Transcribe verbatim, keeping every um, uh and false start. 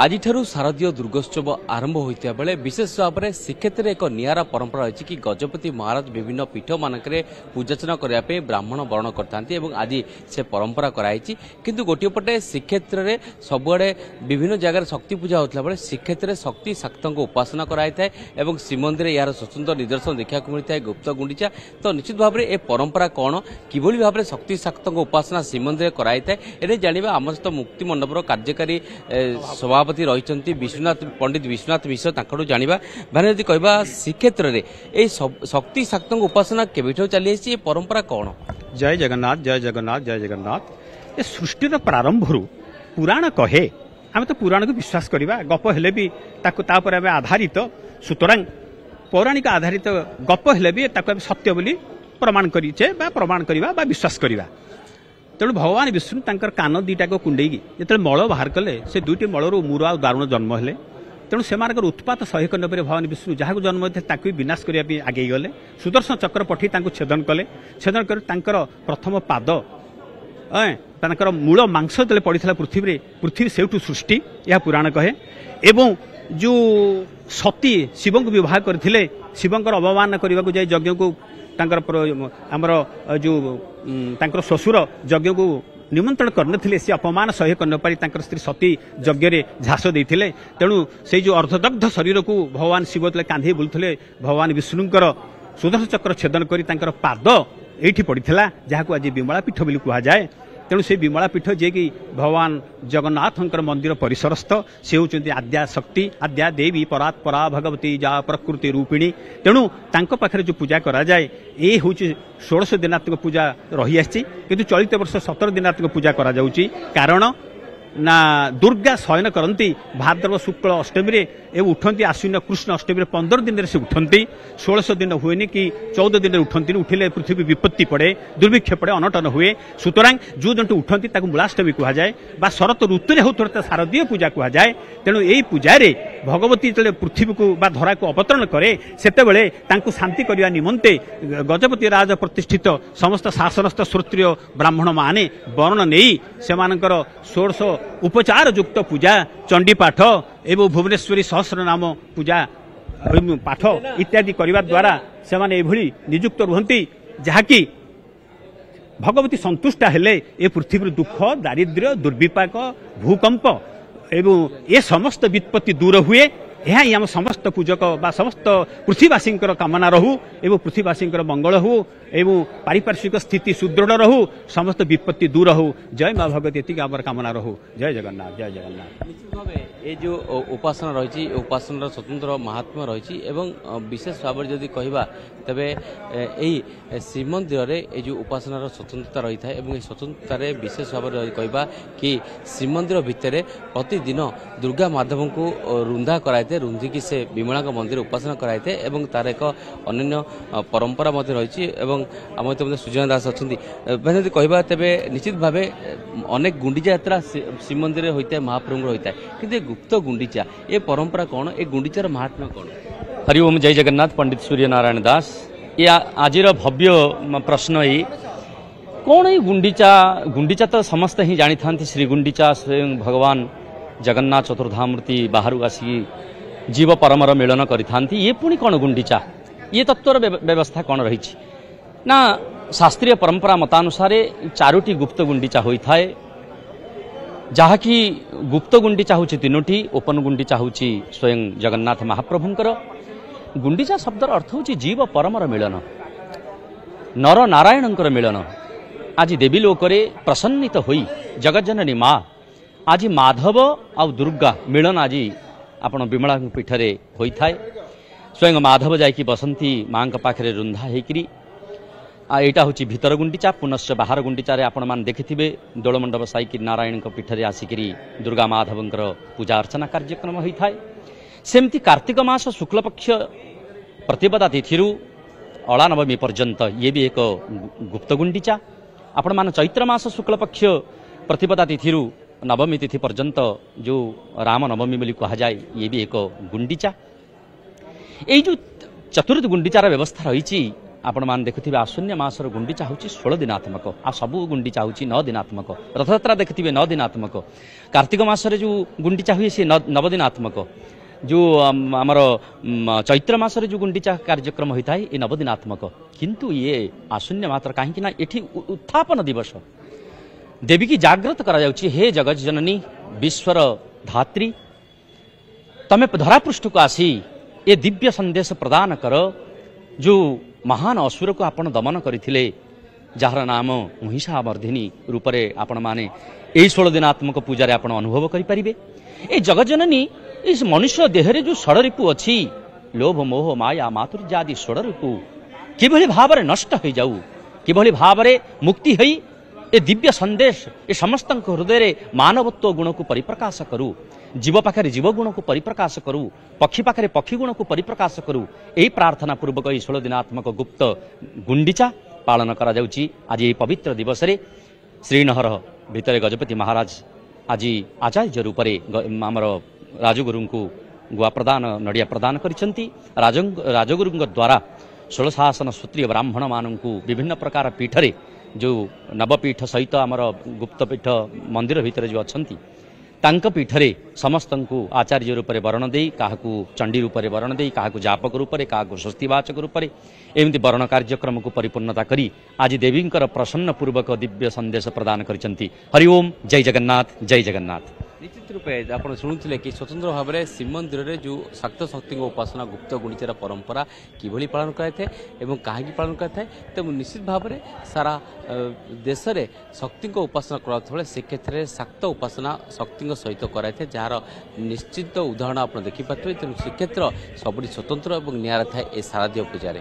ଆଜିଠାରୁ ଶାରଦୀୟ ଦୁର୍ଗୋତ୍ସବ ଆରମ୍ଭ ହୋଇଥିବା ବେଳେ ବିଶେଷ ଭାବରେ ଶ୍ରୀକ୍ଷେତ୍ରରେ ଏକ ନିଆରା ପରମ୍ପରା ରହିଛି କି ଗଜପତି ମହାରାଜ ବିଭିନ୍ନ ପୀଠମାନଙ୍କରେ ପୂଜାର୍ଚ୍ଚନା କରିବା ପାଇଁ ବ୍ରାହ୍ମଣ ବରଣ କରିଥାନ୍ତି ଏବଂ ଆଜି ସେ ପରମ୍ପରା କରାଯାଇଛି। କିନ୍ତୁ ଗୋଟିଏ ପଟେ ଶ୍ରୀକ୍ଷେତ୍ରରେ ସବୁଆଡ଼େ ବିଭିନ୍ନ ଜାଗାରେ ଶକ୍ତି ପୂଜା ହେଉଥିଲା ବେଳେ ଶ୍ରୀକ୍ଷେତ୍ରରେ ଶକ୍ତି ଶାକ୍ତଙ୍କ ଉପାସନା କରାଯାଇଥାଏ ଏବଂ ଶ୍ରୀମନ୍ଦିରରେ ଏହାର ସ୍ୱତନ୍ତ୍ର ନିଦର୍ଶନ ଦେଖିବାକୁ ମିଳିଥାଏ ଗୁପ୍ତ ଗୁଣ୍ଡିଚା। ତ ନିଶ୍ଚିତ ଭାବରେ ଏ ପରମ୍ପରା କ'ଣ, କିଭଳି ଭାବରେ ଶକ୍ତି ଶାକ୍ତଙ୍କ ଉପାସନା ଶ୍ରୀମନ୍ଦିରରେ କରାଯାଇଥାଏ, ଏରେ ଜାଣିବା। ଆମ ସହିତ ମୁକ୍ତି ମଣ୍ଡପର କାର୍ଯ୍ୟକାରୀ ସଭାପତି ରହିଛନ୍ତି ବିଶ୍ୱନାଥ ପଣ୍ଡିତ ବିଶ୍ୱନାଥ ମିଶ୍ର, ତାଙ୍କଠୁ ଜାଣିବା। ମାନେ ଯଦି କହିବା ଶ୍ରୀକ୍ଷେତ୍ରରେ ଏଇ ଶକ୍ତି ଶାକ୍ତଙ୍କ ଉପାସନା କେବେଠାରୁ ଚାଲି ଆସିଛି, ଏ ପରମ୍ପରା କ'ଣ? ଜୟ ଜଗନ୍ନାଥ, ଜୟ ଜଗନ୍ନାଥ, ଜୟ ଜଗନ୍ନାଥ। ଏ ସୃଷ୍ଟିର ପ୍ରାରମ୍ଭରୁ ପୁରାଣ କହେ, ଆମେ ତ ପୁରାଣକୁ ବିଶ୍ୱାସ କରିବା, ଗପ ହେଲେ ବି ତାକୁ ତାପରେ ଆମେ ଆଧାରିତ। ସୁତରାଂ ପୌରାଣିକ ଆଧାରିତ ଗପ ହେଲେ ବି ତାକୁ ଆମେ ସତ୍ୟ ବୋଲି ପ୍ରମାଣ କରିଛେ ବା ପ୍ରମାଣ କରିବା ବା ବିଶ୍ୱାସ କରିବା। ତେଣୁ ଭଗବାନ ବିଷ୍ଣୁ ତାଙ୍କର କାନ ଦୁଇଟାକୁ କୁଣ୍ଡେଇକି ଯେତେବେଳେ ମଳ ବାହାର କଲେ, ସେ ଦୁଇଟି ମଳରୁ ମୁର ଆଉ ଦାରୁଣ ଜନ୍ମ ହେଲେ। ତେଣୁ ସେମାନଙ୍କର ଉତ୍ପାତ ସହ୍ୟ କରିନପାରି ଭଗବାନ ବିଷ୍ଣୁ ଯାହାକୁ ଜନ୍ମ ଦେଇଥିଲେ ତାକୁ ବି ବିନାଶ କରିବା ପାଇଁ ଆଗେଇ ଗଲେ। ସୁଦର୍ଶନ ଚକ୍ର ପଠେଇ ତାଙ୍କୁ ଛେଦନ କଲେ। ଛେଦନ କରି ତାଙ୍କର ପ୍ରଥମ ପାଦ, ତାଙ୍କର ମୂଳ ମାଂସ ଯେତେବେଳେ ପଡ଼ିଥିଲା ପୃଥିବୀରେ, ପୃଥିବୀ ସେଇଠୁ ସୃଷ୍ଟି, ଏହା ପୁରାଣ କହେ। ଏବଂ ଯେଉଁ ସତୀ ଶିବଙ୍କୁ ବିବାହ କରିଥିଲେ, ଶିବଙ୍କର ଅବମାନନା କରିବାକୁ ଯାଇ ଯଜ୍ଞକୁ ତାଙ୍କର ଆମର ଯେଉଁ ତାଙ୍କର ଶ୍ୱଶୁର ଯଜ୍ଞକୁ ନିମନ୍ତ୍ରଣ କରିନଥିଲେ, ସେ ଅପମାନ ସହ୍ୟ କରିନପାରି ତାଙ୍କର ସ୍ତ୍ରୀ ସତୀ ଯଜ୍ଞରେ ଝାସ ଦେଇଥିଲେ। ତେଣୁ ସେଇ ଯେଉଁ ଅର୍ଦ୍ଧଦଗ୍ଧ ଶରୀରକୁ ଭଗବାନ ଶିବ ଯେତେବେଳେ କାନ୍ଧେଇ ବୁଲୁଥିଲେ, ଭଗବାନ ବିଷ୍ଣୁଙ୍କର ସୁଦର୍ଶନ ଚକ୍ର ଛେଦନ କରି ତାଙ୍କର ପାଦ ଏଇଠି ପଡ଼ିଥିଲା, ଯାହାକୁ ଆଜି ବିମଳା ପୀଠ ବୋଲି କୁହାଯାଏ। ତେଣୁ ସେ ବିମଳା ପୀଠ ଯିଏକି ଭଗବାନ ଜଗନ୍ନାଥଙ୍କର ମନ୍ଦିର ପରିସରସ୍ଥ, ସେ ହେଉଛନ୍ତି ଆଦ୍ୟା ଶକ୍ତି, ଆଦ୍ୟା ଦେବୀ ପରାତ ପରା ଭଗବତୀ ଯା ପ୍ରକୃତି ରୂପିଣୀ। ତେଣୁ ତାଙ୍କ ପାଖରେ ଯେଉଁ ପୂଜା କରାଯାଏ, ଏ ହେଉଛି ଷୋଡ଼ଶ ଦିନାତ୍ମକ ପୂଜା ରହିଆସିଛି, କିନ୍ତୁ ଚଳିତ ବର୍ଷ ସତର ଦିନାତ୍ମକ ପୂଜା କରାଯାଉଛି। କାରଣ ନା ଦୁର୍ଗା ଶୟନ କରନ୍ତି ଭାଦ୍ରବ ଶୁକ୍ଳ ଅଷ୍ଟମୀରେ ଏବଂ ଉଠନ୍ତି ଆଶ୍ୱିନ କୃଷ୍ଣ ଅଷ୍ଟମୀରେ। ପନ୍ଦର ଦିନରେ ସେ ଉଠନ୍ତି, ଷୋଳଶ ଦିନ ହୁଏନି କି ଚଉଦ ଦିନରେ ଉଠନ୍ତିନି। ଉଠିଲେ ପୃଥିବୀ ବିପତ୍ତି ପଡ଼େ, ଦୁର୍ଭିକ୍ଷ ପଡ଼େ, ଅନଟନ ହୁଏ। ସୁତରାଂ ଯେଉଁ ଦିନଠୁ ଉଠନ୍ତି ତାକୁ ମୂଳାଷ୍ଟମୀ କୁହାଯାଏ ବା ଶରତ ଋତୁରେ ହେଉଥିବା ଶାରଦୀୟ ପୂଜା କୁହାଯାଏ। ତେଣୁ ଏଇ ପୂଜାରେ ଭଗବତୀ ଯେତେବେଳେ ପୃଥିବୀକୁ ବା ଧରାକୁ ଅବତରଣ କରେ, ସେତେବେଳେ ତାଙ୍କୁ ଶାନ୍ତି କରିବା ନିମନ୍ତେ ଗଜପତି ରାଜ ପ୍ରତିଷ୍ଠିତ ସମସ୍ତ ଶାସନସ୍ଥ ଶ୍ରୋତ୍ରିୟ ବ୍ରାହ୍ମଣମାନେ ବରଣ ନେଇ ସେମାନଙ୍କର ଷୋଡ଼ଶ ଉପଚାର ଯୁକ୍ତ ପୂଜା, ଚଣ୍ଡୀପାଠ ଏବଂ ଭୁବନେଶ୍ୱରୀ ସହସ୍ର ନାମ ପୂଜା ପାଠ ଇତ୍ୟାଦି କରିବା ଦ୍ୱାରା ସେମାନେ ଏଭଳି ନିଯୁକ୍ତ ରୁହନ୍ତି, ଯାହାକି ଭଗବତୀ ସନ୍ତୁଷ୍ଟ ହେଲେ ଏ ପୃଥିବୀରୁ ଦୁଃଖ, ଦାରିଦ୍ର୍ୟ, ଦୁର୍ବିପାକ, ଭୂକମ୍ପ ଏବଂ ଏ ସମସ୍ତ ବିପତ୍ତି ଦୂର ହୁଏ। ଏହା ହିଁ ଆମ ସମସ୍ତ ପୂଜକ ବା ସମସ୍ତ ପୃଥିବୀବାସୀଙ୍କର କାମନା ରହୁ ଏବଂ ପୃଥିବୀବାସୀଙ୍କର ମଙ୍ଗଳ ହଉ ଏବଂ ପାରିପାର୍ଶ୍ୱିକ ସ୍ଥିତି ସୁଦୃଢ଼ ରହୁ, ସମସ୍ତ ବିପତ୍ତି ଦୂର ହଉ। ଜୟ ମା ଭଗବତୀ, ଏତିକି ଆମର କାମନା ରହୁ। ଜୟ ଜଗନ୍ନାଥ, ଜୟ ଜଗନ୍ନାଥ। ନିଶ୍ଚିତ ଭାବେ ଏ ଯେଉଁ ଉପାସନା ରହିଛି, ଏ ଉପାସନାର ସ୍ୱତନ୍ତ୍ର ମହାତ୍ମ୍ୟ ରହିଛି ଏବଂ ବିଶେଷ ଭାବରେ ଯଦି କହିବା ତେବେ ଏଇ ଶ୍ରୀମନ୍ଦିରରେ ଏ ଯେଉଁ ଉପାସନାର ସ୍ୱତନ୍ତ୍ରତା ରହିଥାଏ ଏବଂ ଏହି ସ୍ୱତନ୍ତ୍ରତାରେ ବିଶେଷ ଭାବରେ ଯଦି କହିବା କି ଶ୍ରୀମନ୍ଦିର ଭିତରେ ପ୍ରତିଦିନ ଦୁର୍ଗା ମାଧବଙ୍କୁ ରୁନ୍ଧା କରାଯାଇଥାଏ, ରୁନ୍ଧିକି ସେ ବିମଳାଙ୍କ ମନ୍ଦିର ଉପାସନା କରାଯାଇଥାଏ ଏବଂ ତାର ଏକ ଅନ୍ୟାନ୍ୟ ପରମ୍ପରା ମଧ୍ୟ ରହିଛି। ଏବଂ ଆମ ସହିତ ମଧ୍ୟ ସୁଜନା ଦାସ ଅଛନ୍ତି। ମାନେ ଯଦି କହିବା ତେବେ ନିଶ୍ଚିତ ଭାବେ ଅନେକ ଗୁଣ୍ଡିଚା ଯାତ୍ରା ଶ୍ରୀମନ୍ଦିରରେ ହୋଇଥାଏ, ମହାପ୍ରଭୁଙ୍କର ହୋଇଥାଏ, କିନ୍ତୁ ଏ ଗୁପ୍ତ ଗୁଣ୍ଡିଚା ଏ ପରମ୍ପରା କ'ଣ, ଏ ଗୁଣ୍ଡିଚାର ମହାତ୍ମ୍ୟ କ'ଣ? ହରି ଓମ୍, ଜୟ ଜଗନ୍ନାଥ। ପଣ୍ଡିତ ସୂର୍ଯ୍ୟ ନାରାୟଣ ଦାସ। ଏ ଆଜିର ଭବ୍ୟ ପ୍ରଶ୍ନ, ଏଇ କ'ଣ ଏଇ ଗୁଣ୍ଡିଚା? ଗୁଣ୍ଡିଚା ତ ସମସ୍ତେ ହିଁ ଜାଣିଥାନ୍ତି, ଶ୍ରୀ ଗୁଣ୍ଡିଚା ସ୍ୱୟଂ ଭଗବାନ ଜଗନ୍ନାଥ ଚତୁର୍ଦ୍ଧାମୂର୍ତ୍ତି ବାହାରୁ ଆସିକି ଜୀବ ପରମର ମିଳନ କରିଥାନ୍ତି। ଇଏ ପୁଣି କ'ଣ ଗୁଣ୍ଡିଚା? ଇଏ ତତ୍ତ୍ୱର ବ୍ୟବସ୍ଥା କ'ଣ ରହିଛି ନା, ଶାସ୍ତ୍ରୀୟ ପରମ୍ପରା ମତାନୁସାରେ ଚାରୋଟି ଗୁପ୍ତ ଗୁଣ୍ଡିଚା ହୋଇଥାଏ, ଯାହାକି ଗୁପ୍ତ ଗୁଣ୍ଡିଚା ହେଉଛି ତିନୋଟି, ଓପନ ଗୁଣ୍ଡିଚା ହେଉଛି ସ୍ୱୟଂ ଜଗନ୍ନାଥ ମହାପ୍ରଭୁଙ୍କର। ଗୁଣ୍ଡିଚା ଶବ୍ଦର ଅର୍ଥ ହେଉଛି ଜୀବ ପରମର ମିଳନ, ନର ନାରାୟଣଙ୍କର ମିଳନ। ଆଜି ଦେବୀ ଲୋକରେ ପ୍ରସନ୍ନିତ ହୋଇ ଜଗଜ୍ଜନନୀ ମା ଆଜି ମାଧବ ଆଉ ଦୁର୍ଗା ମିଳନ ଆଜି ଆପଣ ବିମଳାଙ୍କ ପୀଠରେ ହୋଇଥାଏ। ସ୍ୱୟଂ ମାଧବ ଯାଇକି ବସନ୍ତି ମାଙ୍କ ପାଖରେ ରୁନ୍ଧା ହେଇକିରି। ଆଉ ଏଇଟା ହେଉଛି ଭିତର ଗୁଣ୍ଡିଚା। ପୁନଶ୍ଚ ବାହାର ଗୁଣ୍ଡିଚାରେ ଆପଣମାନେ ଦେଖିଥିବେ ଦୋଳମଣ୍ଡପ ସାଇକି ନାରାୟଣଙ୍କ ପୀଠରେ ଆସିକିରି ଦୁର୍ଗା ମାଧବଙ୍କର ପୂଜା ଅର୍ଚ୍ଚନା କାର୍ଯ୍ୟକ୍ରମ ହୋଇଥାଏ। ସେମିତି କାର୍ତ୍ତିକ ମାସ ଶୁକ୍ଳପକ୍ଷ ପ୍ରତିପଦା ତିଥିରୁ ଅଳାନବମୀ ପର୍ଯ୍ୟନ୍ତ ଇଏ ବି ଏକ ଗୁପ୍ତ ଗୁଣ୍ଡିଚା। ଆପଣମାନେ ଚୈତ୍ର ମାସ ଶୁକ୍ଳପକ୍ଷ ପ୍ରତିପଦା ତିଥିରୁ ନବମୀ ତିଥି ପର୍ଯ୍ୟନ୍ତ ଯେଉଁ ରାମନବମୀ ବୋଲି କୁହାଯାଏ, ଇଏ ବି ଏକ ଗୁଣ୍ଡିଚା। ଏଇ ଯେଉଁ ଚତୁର୍ଥ ଗୁଣ୍ଡିଚାର ବ୍ୟବସ୍ଥା ରହିଛି, ଆପଣମାନେ ଦେଖୁଥିବେ ଆଶ୍ୱିନ ମାସର ଗୁଣ୍ଡିଚା ହେଉଛି ଷୋହଳ ଦିନାତ୍ମକ, ଆଉ ସବୁ ଗୁଣ୍ଡିଚା ହେଉଛି ନଅ ଦିନାତ୍ମକ। ରଥଯାତ୍ରା ଦେଖିଥିବେ ନଅ ଦିନାତ୍ମକ, କାର୍ତ୍ତିକ ମାସରେ ଯେଉଁ ଗୁଣ୍ଡିଚା ହୁଏ ସେ ନବଦିନାତ୍ମକ, ଯେଉଁ ଆମର ଚୈତ୍ର ମାସରେ ଯେଉଁ ଗୁଣ୍ଡିଚା କାର୍ଯ୍ୟକ୍ରମ ହୋଇଥାଏ ଏ ନବଦିନାତ୍ମକ। କିନ୍ତୁ ଇଏ ଆଶ୍ୱିନ ମାତ୍ର କାହିଁକି ନା ଏଠି ଉତ୍ଥାପନ ଦିବସ, ଦେବୀକି ଜାଗ୍ରତ କରାଯାଉଛି। ହେ ଜଗତ ଜନନୀ, ବିଶ୍ୱର ଧାତ୍ରୀ, ତମେ ଧରାପୃଷ୍ଠକୁ ଆସି ଏ ଦିବ୍ୟ ସନ୍ଦେଶ ପ୍ରଦାନ କର। ଯେଉଁ ମହାନ ଅସୁରକୁ ଆପଣ ଦମନ କରିଥିଲେ, ଯାହାର ନାମ ମହିଷାମର୍ଦ୍ଦିନୀ ରୂପରେ ଆପଣମାନେ ଏହି ଷୋହଳ ଦିନାତ୍ମକ ପୂଜାରେ ଆପଣ ଅନୁଭବ କରିପାରିବେ। ଏ ଜଗତଜନନୀ ଏ ମନୁଷ୍ୟ ଦେହରେ ଯେଉଁ ଷଡ଼ରିପୁ ଅଛି, ଲୋଭ ମୋହ ମାୟା ମାଧୁର୍ଯ୍ୟ ଆଦି ଷଡ଼ରିପୁ କିଭଳି ଭାବରେ ନଷ୍ଟ ହୋଇଯାଉ, କିଭଳି ଭାବରେ ମୁକ୍ତି ହୋଇ ଏ ଦିବ୍ୟ ସନ୍ଦେଶ ଏ ସମସ୍ତଙ୍କ ହୃଦୟରେ ମାନବତ୍ୱ ଗୁଣକୁ ପରିପ୍ରକାଶ କରୁ, ଜୀବ ପାଖରେ ଜୀବ ଗୁଣକୁ ପରିପ୍ରକାଶ କରୁ, ପକ୍ଷୀ ପାଖରେ ପକ୍ଷୀ ଗୁଣକୁ ପରିପ୍ରକାଶ କରୁ, ଏହି ପ୍ରାର୍ଥନା ପୂର୍ବକ ଏହି ଷୋହଳ ଦିନାତ୍ମକ ଗୁପ୍ତ ଗୁଣ୍ଡିଚା ପାଳନ କରାଯାଉଛି। ଆଜି ଏହି ପବିତ୍ର ଦିବସରେ ଶ୍ରୀନହର ଭିତରେ ଗଜପତି ମହାରାଜ ଆଜି ଆଚାର୍ଯ୍ୟ ରୂପରେ ଆମର ରାଜଗୁରୁଙ୍କୁ ଗୁଆ ପ୍ରଦାନ, ନଡ଼ିଆ ପ୍ରଦାନ କରିଛନ୍ତି। ରାଜ ରାଜଗୁରୁଙ୍କ ଦ୍ୱାରା ଷୋଳଶାସନ ସୂତ୍ରୀୟ ବ୍ରାହ୍ମଣମାନଙ୍କୁ ବିଭିନ୍ନ ପ୍ରକାର ପୀଠରେ ଯେଉଁ ନବପୀଠ ସହିତ ଆମର ଗୁପ୍ତପୀଠ ମନ୍ଦିର ଭିତରେ ଯେଉଁ ଅଛନ୍ତି ତାଙ୍କ ପୀଠରେ ସମସ୍ତଙ୍କୁ ଆଚାର୍ଯ୍ୟ ରୂପରେ ବରଣ ଦେଇ, କାହାକୁ ଚଣ୍ଡୀ ରୂପରେ ବରଣ ଦେଇ, କାହାକୁ ଜାପକ ରୂପରେ, କାହାକୁ ସ୍ୱସ୍ତିବାଚକ ରୂପରେ ଏମିତି ବରଣ କାର୍ଯ୍ୟକ୍ରମକୁ ପରିପୂର୍ଣ୍ଣତା କରି ଆଜି ଦେବୀଙ୍କର ପ୍ରସନ୍ନ ପୂର୍ବକ ଦିବ୍ୟ ସନ୍ଦେଶ ପ୍ରଦାନ କରିଛନ୍ତି। ହରି ଓମ୍, ଜୟ ଜଗନ୍ନାଥ, ଜୟ ଜଗନ୍ନାଥ। ନିଶ୍ଚିତ ରୂପେ ଆପଣ ଶୁଣୁଥିଲେ କି ସ୍ୱତନ୍ତ୍ର ଭାବରେ ଶ୍ରୀମନ୍ଦିରରେ ଯେଉଁ ଶାକ୍ତ ଶକ୍ତିଙ୍କ ଉପାସନା ଗୁପ୍ତ ଗୁଣ୍ଡିଚାର ପରମ୍ପରା କିଭଳି ପାଳନ କରାଯାଇଥାଏ ଏବଂ କାହିଁକି ପାଳନ କରାଯାଇଥାଏ। ତେଣୁ ନିଶ୍ଚିତ ଭାବରେ ସାରା ଦେଶରେ ଶକ୍ତିଙ୍କ ଉପାସନା କରାଯାଉଥିବା ବେଳେ ସେ କ୍ଷେତ୍ରରେ ଶାକ୍ତ ଉପାସନା ଶକ୍ତିଙ୍କ ସହିତ କରାଯାଇଥାଏ, ଯାହାର ନିଶ୍ଚିତ ଉଦାହରଣ ଆପଣ ଦେଖିପାରୁଥିବେ। ତେଣୁ ଶ୍ରୀକ୍ଷେତ୍ର ସବୁଠି ସ୍ୱତନ୍ତ୍ର ଏବଂ ନିଆରା ଥାଏ ଏ ଶାରଦୀୟ ପୂଜାରେ।